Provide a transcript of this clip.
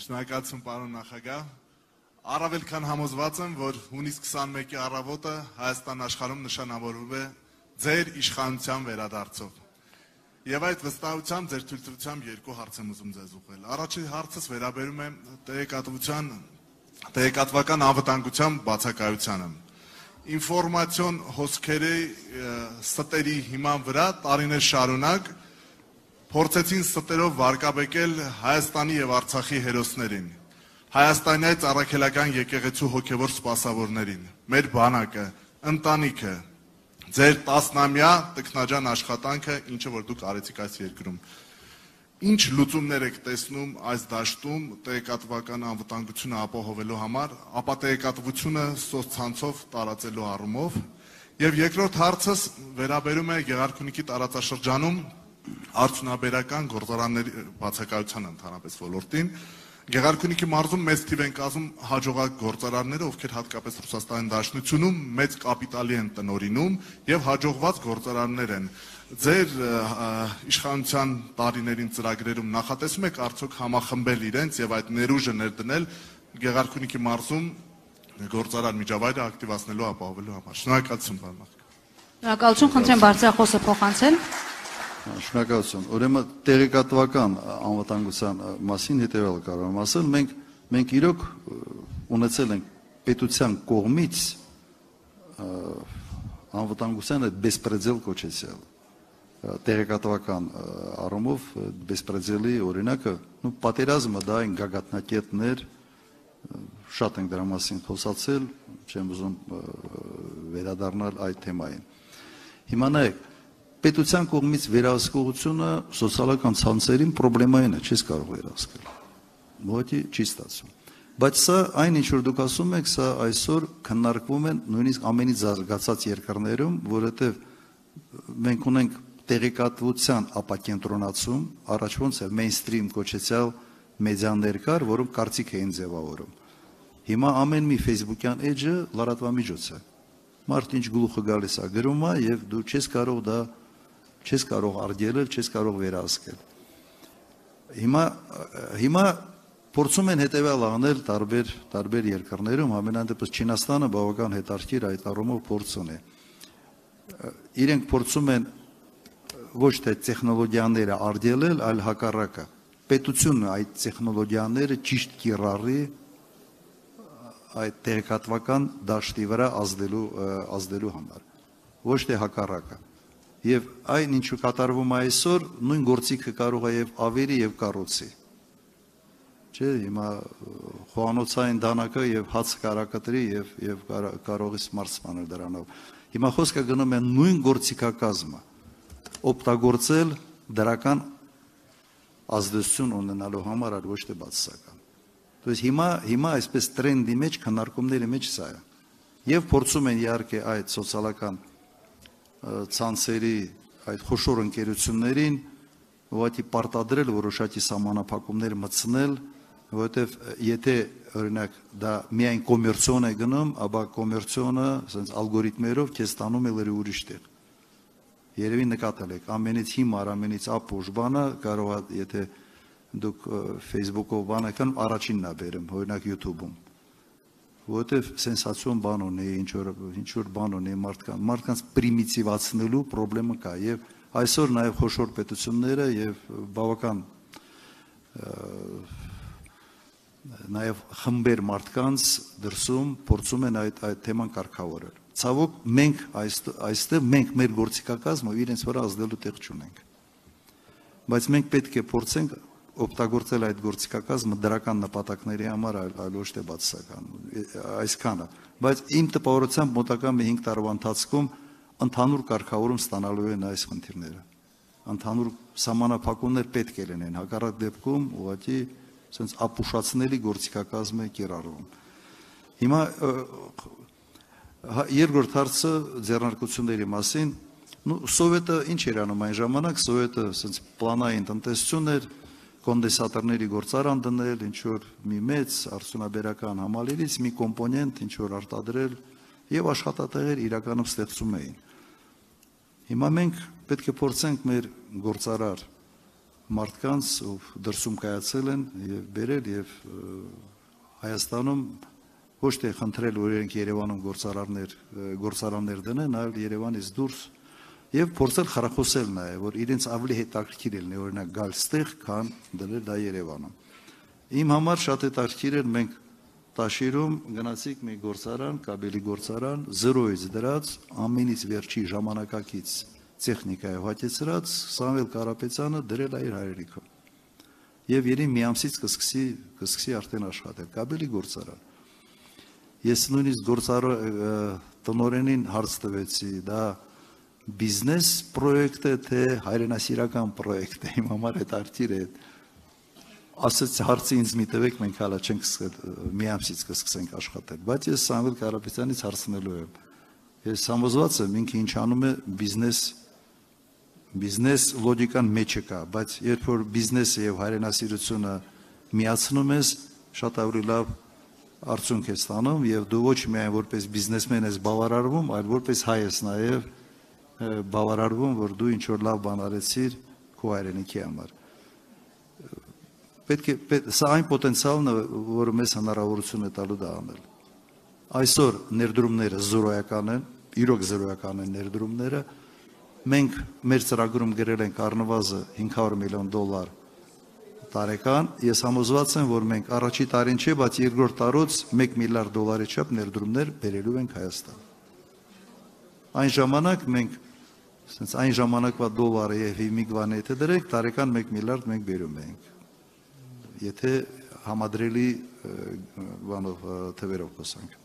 Շնորհակալություն պարոն նախագահ։ Առավել քան համոզված եմ, որ հունիս 21-ի առավոտը Հայաստան աշխարհում նշանավորվում է ձեր իշխանության վերադարձով։ Եվ այդ վստահությամբ ձեր թույլտվությամբ երկու հարց եմ ուզում ձեզ ուղղել։ Առաջին հարցս վերաբերում է տեղեկատվական անվտանգության բացակայությանը։ Ինֆորմացիոն հոսքերի ստերի հիման վրա տարիներ շարունակ փորձեցին ստերով վարկաբեկել Հայաստանի եւ Արցախի հերոսներին, Հայաստանյաց առաքելական եկեղեցու հոգևոր սպասավորներին, մեր բանակը, ընտանիքը, ձեր տասնամյա տքնաջան աշխատանքը, ինչը որ դուք արեցիք այս երկրում։ Ինչ լուծումներ եք տեսնում այս դաշտում տեղեկատվական անվտանգությունը ապահովելու համար, ապա տեղեկատվությունը սոցցանցով տարածելու առումով։ Եվ երկրորդ հարցս վերաբերում է Գեղարքունիքի տարածաշրջանում արդյունաբերական գործարանների բացակայության ընդհանրապես ոլորտին։ Գեղարքունիքի մարզում մեծ թիվ են կազմում հաջողակ գործարանները, ովքեր հատկապես Ռուսաստանի Դաշնությունում մեծ կապիտալի են տնօրինում եւ հաջողված գործարաններ են։ Ձեր իշխանության տարիներին ծրագրերում նախատեսում եք արդյոք համախմբել իրենց եւ այդ ներուժը ներդնել Գեղարքունիքի մարզում գործարան միջավայրը ակտիվացնելու ապահովելու համար։ Շնորհակալություն պարոն նախագահ։ Շնորհակալություն, խնդրեմ բարձրախոսը փոխանցել։ Շնորհակալություն։ Ուրեմն տեղեկատվական անվտանգության մասին հետևյալը կարող եմ ասել, մենք իրոք ունեցել ենք պետության կողմից անվտանգության այդ բեսպրեդել կոչեցյալ տեղեկատվական առումով բեսպրեդելի օրինակը, պատերազմը դա այն գագաթնակետներ, շատ ենք դրա մասին խոսացել, չեմ ուզում վերադառնալ այդ թեմային։ Հիմա նայեք, պետության կողմից վերահսկողությունը սոցիալական ցանցերին պրոբլեմային է, չես կարող վերահսկել։ Ոչի չի ստացվում։ Բայց սա այն ինչ որ դուք ասում եք, սա այսօր քննարկվում են նույնիսկ ամենից զարգացած երկրներում, որովհետև մենք ունենք տեղեկատվության ապակենտրոնացում, առաջ ոնց է մեյնսթրիմ կոչեցյալ մեդիաներ կար, որոնք կարծիք էին ձևավորում։ Հիմա ամեն մի ֆեյսբուքյան էջը լրատվամիջոց է։ Մարդ ինչ գլուխը գալիս է գրում է եւ դու չես կարող արգելել, չես կարող վերահսկել։ Հիմա փորձում են հետևյալ անել տարբեր երկրներում, ամենայն դեպս Չինաստանը բավական հետաքրքիր այդ առումով փորձ ունի։ Իրենք փորձում են ոչ թե տեխնոլոգիաները արգելել, այլ հակառակը։ Պետությունը այդ տեխնոլոգիաները ճիշտ կիրառի այդ տեղեկատվական դաշտի վրա ազդելու համար, ոչ թե հակառակը։ Եվ այն ինչ կատարվում է այսօր, նույն գործիքը կարող է եւ ավերի եւ կառուցի։ Չէ, հիմա խոհանոցային դանակը եւ հաց կարակտրի եւ կարողից մարսմանել դրանով։ Հիմա խոսքը գնում է նույն գործիքակազմը օգտագործել դրական ազդեցություն ունենալու համար, այլ ոչ թե բացասական։ То есть հիմա այսպես տրենդի մեջ քննարկումների մեջ սա է։ Եվ փորձում են իհարկե այդ սոցիալական ցանցերի այդ խոշոր ընկերություններին ուղղակի պարտադրել որոշակի սահմանափակումներ մտցնել, որովհետև եթե օրինակ դա միայն կոմերցիոն է գնում, ապա կոմերցիոնը ասենց ալգորիթմերով քեզ տանում է լրի ուրիշ տեղ։ Երևի նկատել եք, ամենից հիմար, ամենից ապուշ բանը կարող է, եթե դուք Facebook-ով բան եք, առաջինն է բերում, օրինակ YouTube-ում։ Որովհետև սենսացիոն բան ունի, ինչ որ բան ունի մարդկանց պրիմիտիվացնելու պրոբլեմը կա եւ այսօր նաեւ խոշոր պետությունները եւ բավական նաեւ խմբեր մարդկանց դրսում փորձում են այդ թեման կարգավորել։ Ցավոք մենք այստեղ մենք մեր գործիքակազմը իրենց վրա ազդելու տեղ չունենք։ Բայց մենք պետք է փորձենք օգտագործել այդ գործիքակազմը դրական նպատակների համար, այլ ոչ թե բացասական, այսքանը։ Բայց իմ տպավորությամբ մոտակա 5 տարվա ընթացքում ընդհանուր կարգավորում ստանալու են այս խնդիրները։ Ընդհանուր սահմանափակումներ պետք է լինեն, հակառակ դեպքում ուղղակի ասենց ապուշացնելի գործիքակազմ է կիրառվում։ Հիմա երկրորդ հարցը ձեռնարկությունների մասին, Սովետը ինչ էր անում այն ժամանակ, Սովետը ասենց պլանային տնտեսություն էր, կոնդենսատորների գործարան դնել, ինչ որ մի մեծ արդյունաբերական համալիրից մի կոմպոնենտ ինչ որ արտադրել եւ աշխատատեղեր իրականում ստեղծում էին։ Հիմա մենք պետք է փորձենք մեր գործարար մարդկանց, ով դրսում կայացել են եւ բերել եւ Հայաստանում ոչ թե խնդրել, որ իրենք Երևանում գործարաններ դնեն, այլ Երևանից դուրս եւ փորձել խրախուսել նաեւ, որ իրենց ավելի հետաքրքիր լինի, օրինակ գալ ստեղ, քան դնել դա Երևանում։ Իմ համար շատ հետաքրքիր էր, մենք Տաշիրում գնացիք մի գործարան, կաբելի գործարան, 0-ից դրած, ամենից վերջի ժամանակակից տեխնիկայով հագեցրած Սամվել Կարապետյանը դրել է իր հայրենիքում։ Եվ երին մի ամսից կսկսի արդեն աշխատել, կաբելի գործարան։ Ես նույնիսկ տնօրենին հարց տվեցի, դա բիզնես պրոյեկտ է, թե հայրենասիրական պրոյեկտ է, իմ համար հետաքրքիր է։ Ասաց հարցի ինձ մի տվեք, մենք հալա չենք մի ամսից կսկսենք աշխատել, բայց ես Սամվել Կարապետյանից հարցնելու եմ։ Ես համոզված եմ, ինքը ինչ անում է բիզնես լոգիկան մեջը կա, բայց երբ որ բիզնեսը եւ հայրենասիրությունը միացնում ես, շատ ավելի լավ արդյունք է ստանում եւ դու ոչ միայն որպես բիզնեսմեն ես բավարարվում, այլ որպես հայ ես նաեւ բավարարվում, որ դու ինչ որ լավ բան արեցիր քո հայրենիքի համար։ Սա այն պոտենցիալն է, որը մեզ հնարավորություն է տալու դա անել։ Այսօր ներդրումները զրոյական են, իրոք զրոյական են ներդրումները։ Մենք մեր ծրագրում գրել ենք առնվազն $500 միլիոն տարեկան։ Ես համոզված եմ, որ մենք առաջի տարին չէ, բայց երկրորդ տարուց $1 միլիարդ չափ ներդրումներ բերելու ենք Հայաստան։ Այն ժամանակ մենք այն ժամանակվա դոլարը եւ հիմիկվան եթե դրենք, տարեկան $1 միլիարդ մենք բերում ենք։ Եթե համադրելի բանով թվերով խոսանք։